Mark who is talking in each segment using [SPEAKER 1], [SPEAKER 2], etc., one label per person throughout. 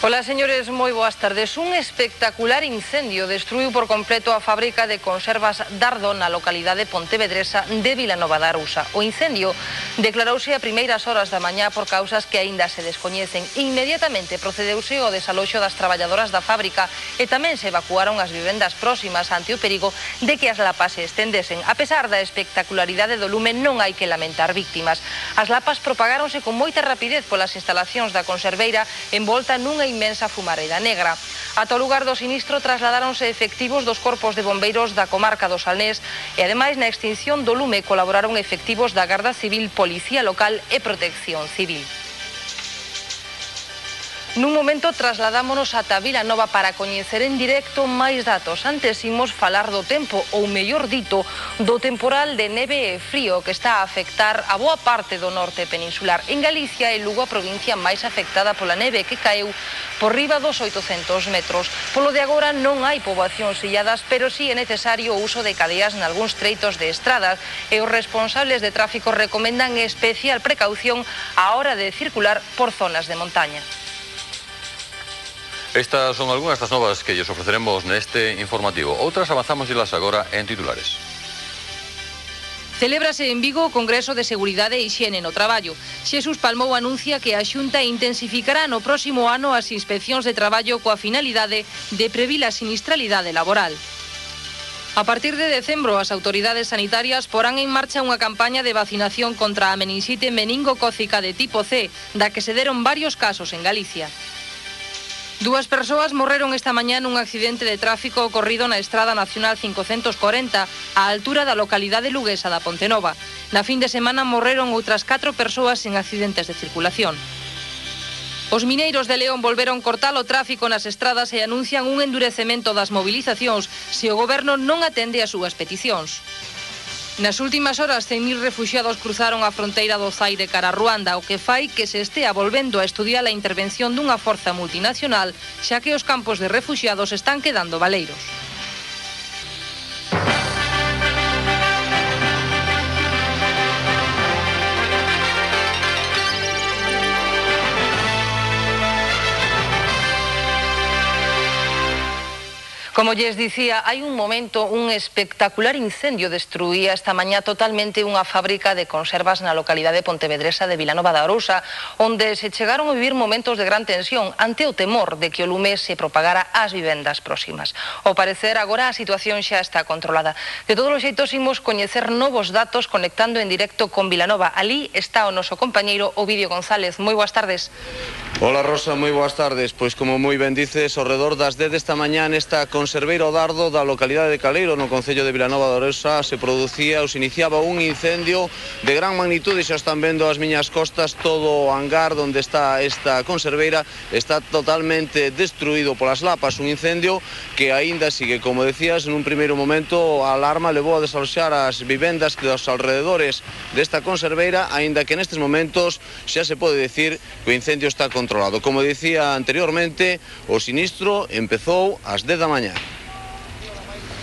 [SPEAKER 1] Ola, señores, moi boas tardes. Un espectacular incendio destruiu por completo a fábrica de conservas Dardo na localidade pontevedresa de Vilanova da Arousa. O incendio declarouse a primeiras horas da mañá por causas que aínda se descoñecen. Inmediatamente procedeuse o desaloxo das traballadoras da fábrica e tamén se evacuaron as vivendas próximas ante o perigo de que as lapas se estendesen. A pesar da espectacularidade do lume, non hai que lamentar víctimas. As lapas propagáronse con moita rapidez polas instalacións da conserveira envolta nunha inmensa fumareira negra. Ata o lugar do sinistro trasladáronse efectivos dos corpos de bombeiros da comarca do Salnés e, ademais, na extinción do lume colaboraron efectivos da Garda Civil, Policía Local e Protección Civil. Nun momento trasladámonos ata Vilanova para coñecer en directo máis datos. Antes imos falar do tempo, ou mellor dito, do temporal de neve e frío que está a afectar a boa parte do norte peninsular. En Galicia é Lugo a provincia máis afectada pola neve que caeu por riba dos 800 metros. Polo de agora non hai poboacións illadas, pero sí é necesario o uso de cadeas nalgúns treitos de estradas e os responsables de tráfico recomendan especial precaución á hora de circular por zonas de montaña.
[SPEAKER 2] Estas son algunhas das novas que lles ofreceremos neste informativo. Outras avanzamos delas agora en titulares.
[SPEAKER 1] Celébrase en Vigo o Congreso de Seguridade e Hixiene no Traballo. Xesús Palmou anuncia que a Xunta intensificará no próximo ano as inspeccións de traballo coa finalidade de previr a sinistralidade laboral. A partir de decembro, as autoridades sanitarias porán en marcha unha campaña de vacinación contra a meningite meningocócica de tipo C, da que se deron varios casos en Galicia. Dúas persoas morreron esta mañá nun accidente de tráfico ocorrido na Estrada Nacional 540 á altura da localidade luguesa da Pontenova. Na fin de semana morreron outras 4 persoas en accidentes de circulación. Os mineiros de León volveron cortar o tráfico nas estradas e anuncian un endurecemento das movilizacións se o goberno non atende as súas peticións. Nas últimas horas, 100.000 refuxiados cruzaron a fronteira do Zaire cara a Ruanda, o que fai que se estea volvendo a estudiar a intervención dunha forza multinacional, xa que os campos de refuxiados están quedando baleiros. Como lles dicía, hai un momento, un espectacular incendio destruía esta mañá totalmente unha fábrica de conservas na localidade pontevedresa de Vilanova da Arousa, onde se chegaron a vivir momentos de gran tensión ante o temor de que o lume se propagara ás vivendas próximas. Ao parecer, agora a situación xa está controlada. De todos os xeitos, imos coñecer novos datos conectando en directo con Vilanova. Alí está o noso compañeiro Ovidio González. Moi boas tardes.
[SPEAKER 3] Hola, Rosa, moi boas tardes. Pois como moi ben dices, ao redor das 10 desta mañá nesta conserveira O Dardo da localidade de Caleiro, no concello de Vilanova da Arousa, se iniciaba un incendio de gran magnitude. Xa están vendo as miñas costas todo o hangar onde está esta conserveira, está totalmente destruído polas lapas. Un incendio que aínda sigue, como decías, nun primeiro momento a alarma levou a desaloxar as vivendas dos alrededores desta conserveira, aínda que nestes momentos xa se pode decir que o incendio está controlado. Como dicía anteriormente, o sinistro empezou ás 10 da mañá.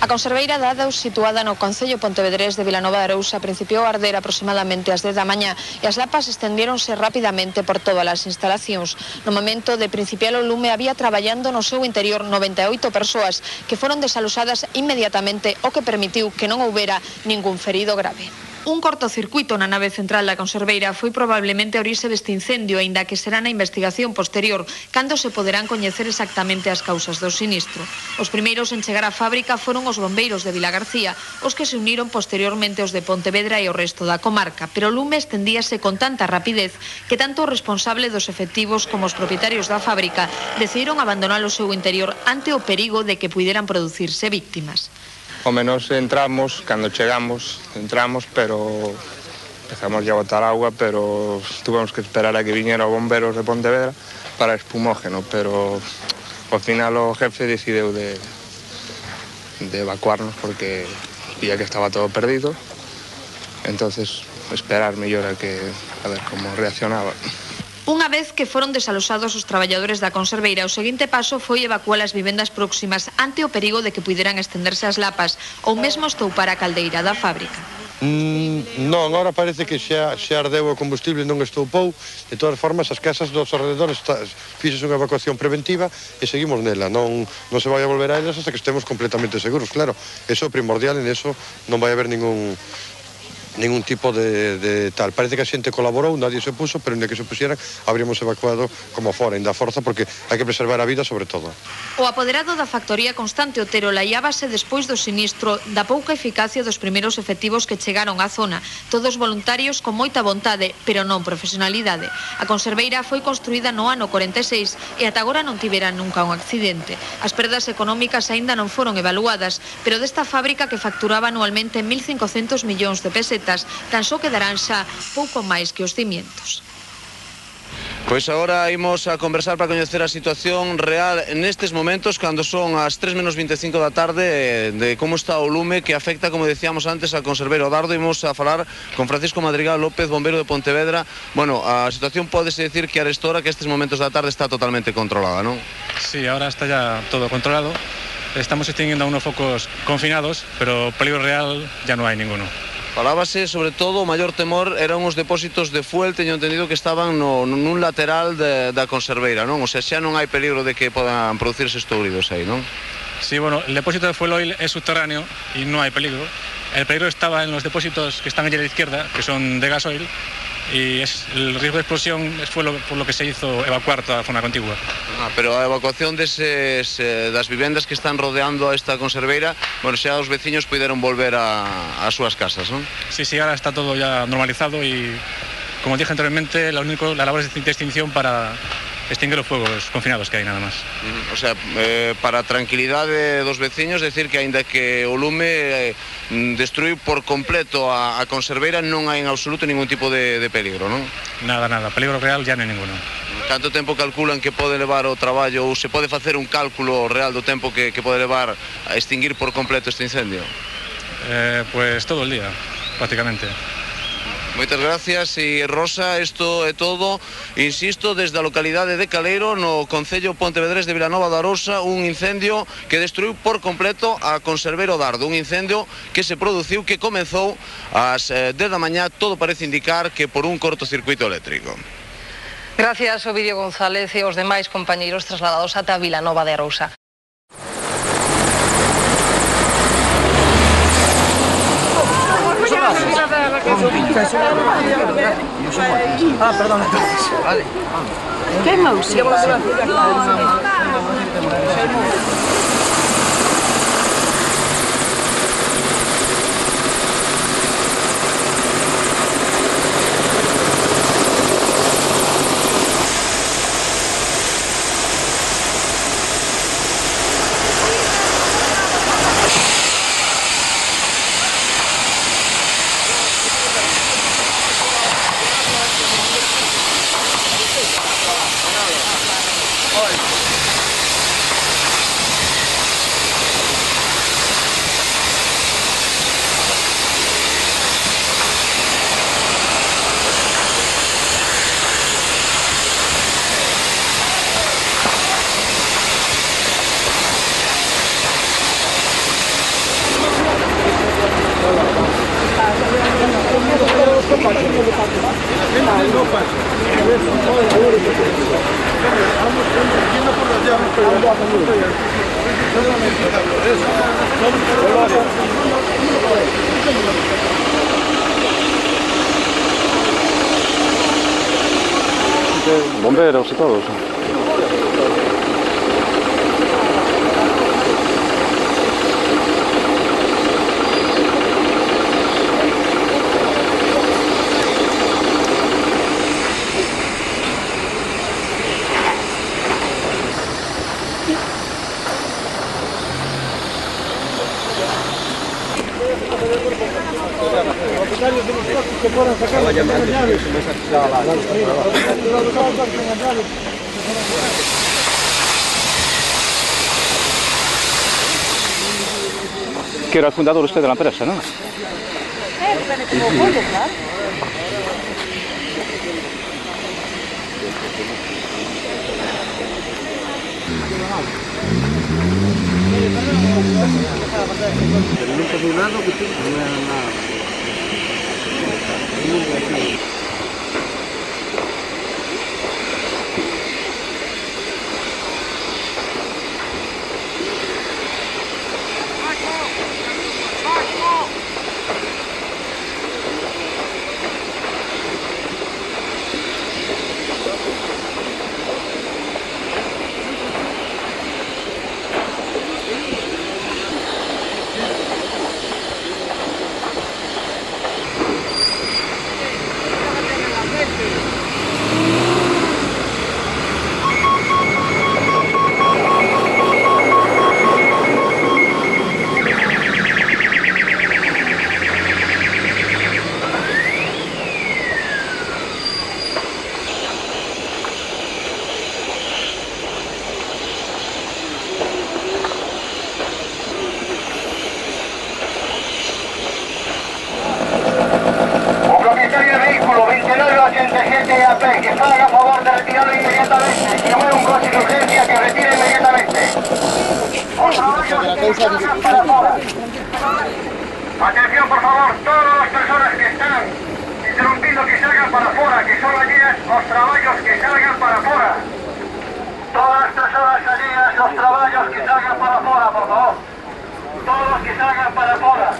[SPEAKER 4] A conserveira Dardo, situada no concello pontevedrés de Vilanova da Arousa, principiou a arder aproximadamente ás 10 da mañá e as lapas estendiéronse rapidamente por todas as instalacións. No momento de principiar o lume había traballando no seu interior 98 persoas que foron desaloxadas inmediatamente, o que permitiu que non houbera ningún ferido grave. Un cortocircuito na nave central da conserveira foi probablemente a orixe deste incendio, aínda que será na investigación posterior cando se poderán coñecer exactamente as causas do sinistro. Os primeiros en chegar á fábrica foron os bombeiros de Vilagarcía, os que se uniron posteriormente os de Pontevedra e o resto da comarca, pero o lume estendíase con tanta rapidez que tanto o responsable dos efectivos como os propietarios da fábrica decidiron abandonar o seu interior ante o perigo de que puideran producirse víctimas.
[SPEAKER 5] O menos entramos, cando chegamos, pero empezamos a botar agua, pero tuvemos que esperar a que viñera os bomberos de Pontevedra para espumógeno, pero ao final o jefe decideu de evacuarnos porque vía que estaba todo perdido, entonces esperar mellor a ver como reaccionaba.
[SPEAKER 4] Unha vez que foron desaloxados os traballadores da conserveira, o seguinte paso foi evacuar as vivendas próximas ante o perigo de que puideran estenderse as lapas ou mesmo estoupar a caldeira da fábrica.
[SPEAKER 6] Non, agora parece que xa ardeu o combustible, non estoupou. De todas formas, as casas dos alrededores fixes unha evacuación preventiva e seguimos nela. Non se vai a volver a elas hasta que estemos completamente seguros, claro. Eso é primordial, en eso non vai haber ningún tipo de tal. Parece que a xente colaborou, nadie se puso, pero en que se pusieran, habríamos evacuado como fora, ainda a forza, porque hai que preservar a vida sobre todo.
[SPEAKER 4] O apoderado da factoría Constante Otero laiábase despois do sinistro da pouca eficacia dos primeiros efectivos que chegaron á zona, todos voluntarios con moita vontade, pero non profesionalidade. A conserveira foi construída no ano 46 e ata agora non tivera nunca un accidente. As perdas económicas aínda non foron evaluadas, pero desta fábrica que facturaba anualmente 1.500 millóns de pesetas, tan só quedarán xa pouco máis que os cimientos.
[SPEAKER 3] Pois agora imos a conversar para coñecer a situación real nestes momentos, cando son as 3 menos 25 da tarde, de como está o lume que afecta, como decíamos antes, a conserveiro Dardo. Imos a falar con Francisco Madrigal López, bombeiro de Pontevedra. Bueno, a situación pódese decir que arestora que estes momentos da tarde está totalmente controlada, non?
[SPEAKER 7] Sí, ahora está ya todo controlado. Estamos extinguiendo a unos focos confinados, pero peligro real ya no hay ninguno.
[SPEAKER 3] Falábase, sobre todo, o maior temor eran os depósitos de fuel, teño entendido que estaban nun lateral da conserveira, non? O sea, xa non hai peligro de que podan producirse estouridos aí, non?
[SPEAKER 7] Sí, bueno, el depósito de fuel oil es subterráneo y no hay peligro. El peligro estaba en los depósitos que están allí a la izquierda, que son de gasoil, y el riesgo de explosión fue por lo que se hizo evacuar toda la zona contigua.
[SPEAKER 3] Pero a evacuación das vivendas que están rodeando a esta conserveira, bueno, xa os veciños puderon volver a súas casas, non?
[SPEAKER 7] Sí, ahora está todo ya normalizado y, como dije anteriormente, la labor es de extinción para extinguir los fuegos confinados que hai, nada máis.
[SPEAKER 3] O sea, para a tranquilidade dos veciños, decir que aínda que o lume destruiu por completo a conserveira, non hai en absoluto ningún tipo de peligro, non?
[SPEAKER 7] Nada, peligro real ya non hai ninguno.
[SPEAKER 3] Canto tempo calculan que pode levar o traballo, ou se pode facer un cálculo real do tempo que pode levar a extinguir por completo este incendio?
[SPEAKER 7] Pues todo el día, prácticamente.
[SPEAKER 3] Moitas gracias. E Rosa, isto é todo, insisto, desde a localidade de Caleiro, no concello pontevedrés de Vilanova de Arousa, un incendio que destruiu por completo a conserveiro Dardo, un incendio que se produciu, que comezou ás 10 da mañá, todo parece indicar que por un cortocircuito eléctrico.
[SPEAKER 1] Gracias, Ovidio González, e os demais compañeiros trasladados ata Vilanova de Arousa.
[SPEAKER 8] Perdón. Vale. ¿Qué mouse?
[SPEAKER 9] Bomberos y todos. Que era el fundador usted de la empresa, ¿no?
[SPEAKER 10] Que salga a favor de retirarlo inmediatamente. Si mueve un coche de urgencia, que retire inmediatamente. Por favor, que salgan para afuera. Atención, por favor, todas las personas que están interrumpiendo que salgan para afuera, que son allí los trabajos que salgan para afuera. Todas las personas allí, los trabajos que salgan para afuera, por favor. Todos los que salgan para afuera.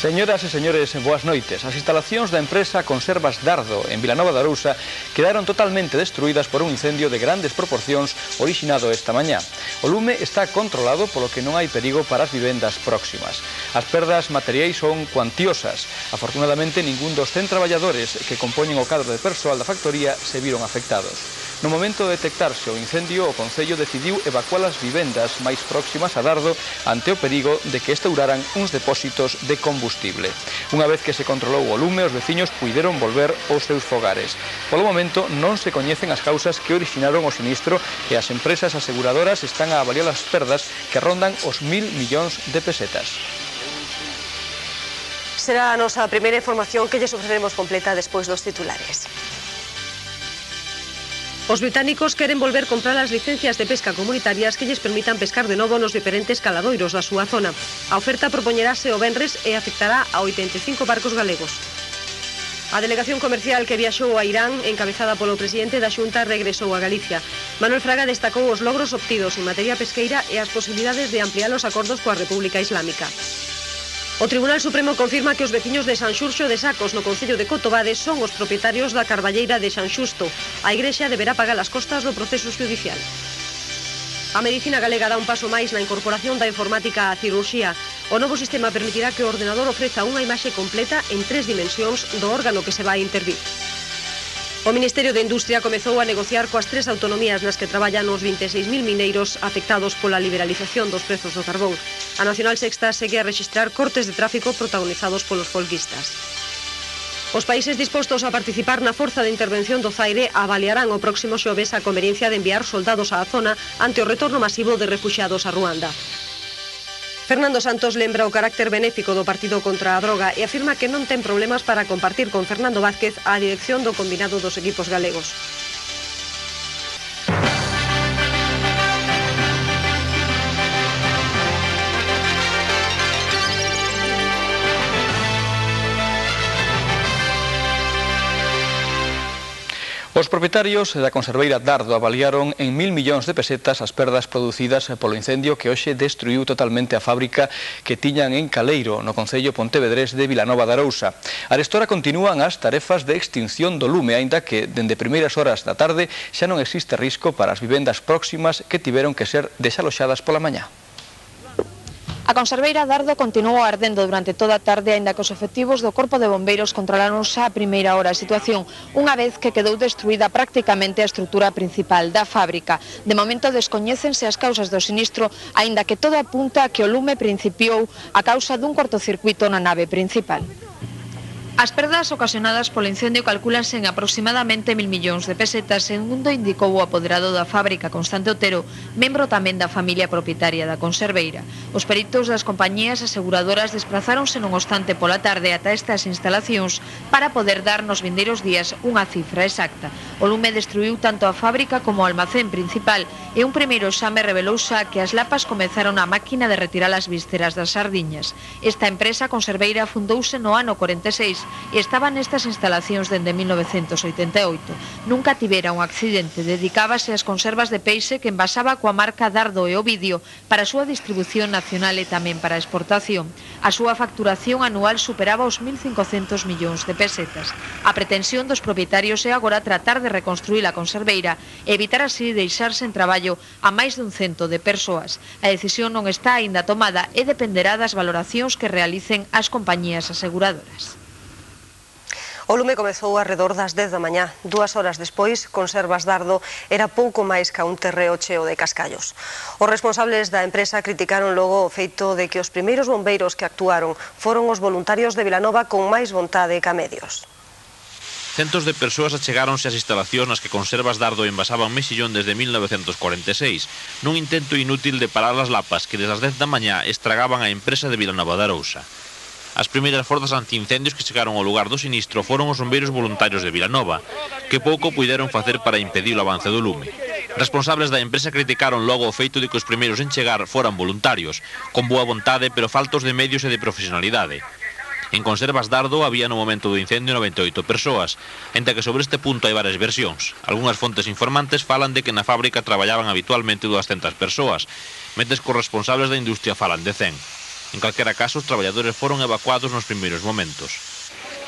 [SPEAKER 9] Señoras e señores, boas noites. As instalacións da empresa Conservas Dardo en Vilanova de Arousa quedaron totalmente destruídas por un incendio de grandes proporcións orixinado esta mañá. O lume está controlado, polo que non hai perigo para as vivendas próximas. As perdas materiais son cuantiosas. Afortunadamente, ningún dos 100 traballadores que compoñen o cadro de persoal da factoría se viron afectados. No momento de detectarse o incendio, o Concello decidiu evacuar as vivendas máis próximas a Dardo ante o perigo de que estouraran uns depósitos de combustible. Unha vez que se controlou o lume, os veciños puideron volver aos seus fogares. Polo momento non se coñecen as causas que orixinaron o sinistro e as empresas aseguradoras están a avaliar as perdas que rondan os 1.000 millóns de pesetas.
[SPEAKER 11] Será a nosa primeira información que lles ofreceremos completa despois dos titulares.
[SPEAKER 12] Os británicos queren volver comprar as licencias de pesca comunitarias que lles permitan pescar de novo nos diferentes caladoiros da súa zona. A oferta propoñerase o venres e afectará a 85 barcos galegos. A delegación comercial que viaxou a Irán, encabezada polo presidente da Xunta, regresou a Galicia. Manuel Fraga destacou os logros obtidos en materia pesqueira e as posibilidades de ampliar os acordos coa República Islámica. O Tribunal Supremo confirma que os veciños de San Xurxo de Sacos, no concello de Cotobade, son os propietarios da carballeira de San Xusto. A Igrexa deberá pagar as costas do proceso judicial. A medicina galega dá un paso máis na incorporación da informática á cirurxía. O novo sistema permitirá que o ordenador ofreza unha imaxe completa en 3 dimensións do órgano que se vai intervir. O Ministerio de Industria comezou a negociar coas 3 autonomías nas que traballan os 26.000 mineiros afectados pola liberalización dos prezos do carbón. A Nacional Sexta segue a rexistrar cortes de tráfico protagonizados polos folguistas. Os países dispostos a participar na Forza de Intervención do Zaire avaliarán o próximo xoves a conveniencia de enviar soldados á zona ante o retorno masivo de refuxiados a Ruanda. Fernando Santos lembra o carácter benéfico do partido contra a droga e afirma que non ten problemas para compartir con Fernando Vázquez a dirección do combinado dos equipos galegos.
[SPEAKER 9] Os propietarios da conserveira Dardo avaliaron en 1.000 millóns de pesetas as perdas producidas polo incendio que hoxe destruiu totalmente a fábrica que tiñan en Caleiro, no concello pontevedrés de Vilanova de Arousa. Arestora continúan as tarefas de extinción do lume, aínda que dende primeiras horas da tarde xa non existe risco para as vivendas próximas que tiveron que ser desaloxadas pola mañá.
[SPEAKER 4] A conserveira Dardo continuou ardendo durante toda a tarde, aínda que os efectivos do Corpo de Bombeiros controlaron xa a primeira hora a situación, unha vez que quedou destruída prácticamente a estrutura principal da fábrica. De momento descoñécense as causas do sinistro, aínda que todo apunta a que o lume principiou a causa dun cortocircuito na nave principal. As perdas ocasionadas polo incendio calcúlanse en aproximadamente 1.000 millóns de pesetas, segundo indicou o apoderado da fábrica, Constante Otero, membro tamén da familia propietaria da conserveira. Os peritos das compañías aseguradoras desprazáronse non obstante pola tarde ata estas instalacións para poder dar nos vindeiros días unha cifra exacta. O lume destruiu tanto a fábrica como o almacén principal e un primeiro exame revelou xa que as lapas comezaron a máquina de retirar as vísceras das sardiñas. Esta empresa conserveira fundouse no ano 46 e estaba nestas instalacións dende 1988. Nunca tivera un accidente, dedicábase ás conservas de peixe que envasaba coa marca Dardo e Ovidio para a súa distribución nacional e tamén para a exportación. A súa facturación anual superaba os 1.500 millóns de pesetas. A pretensión dos propietarios é agora tratar de reconstruir a conserveira e evitar así deixar sen traballo a máis dun 100 de persoas. A decisión non está aínda tomada e dependerá das valoracións que realicen as compañías aseguradoras.
[SPEAKER 11] O lume comezou arredor das 10 da mañá. 2 horas despois, Conservas Dardo era pouco máis ca un terreo cheo de cascallos. Os responsables da empresa criticaron logo o feito de que os primeiros bombeiros que actuaron foron os voluntarios de Vilanova con máis vontade ca medios.
[SPEAKER 13] Centos de persoas achegáronse ás instalacións nas que Conservas Dardo envasaba un mexillón desde 1946, nun intento inútil de parar as lapas que desde as 10 da mañá estragaban a empresa de Vilanova de Arousa. As primeiras forzas antiincendios que chegaron ao lugar do sinistro foron os bombeiros voluntarios de Vilanova, que pouco puideron facer para impedir o avance do lume. Responsables da empresa criticaron logo o feito de que os primeiros en chegar foran voluntarios, con boa vontade pero faltos de medios e de profesionalidade. En Conservas Dardo había no momento do incendio 98 persoas, entre que sobre este punto hai varias versións. Algúnas fontes informantes falan de que na fábrica traballaban habitualmente 200 persoas, mentres que os responsables da industria falan de 100. En calquera caso, os traballadores foron evacuados nos primeiros momentos.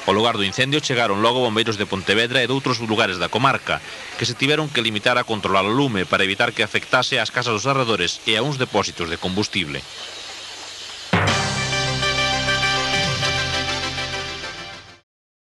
[SPEAKER 13] Ao lugar do incendio chegaron logo bombeiros de Pontevedra e de outros lugares da comarca, que se tiveron que limitar a controlar o lume para evitar que afectase ás casas dos arredores e a uns depósitos de combustible.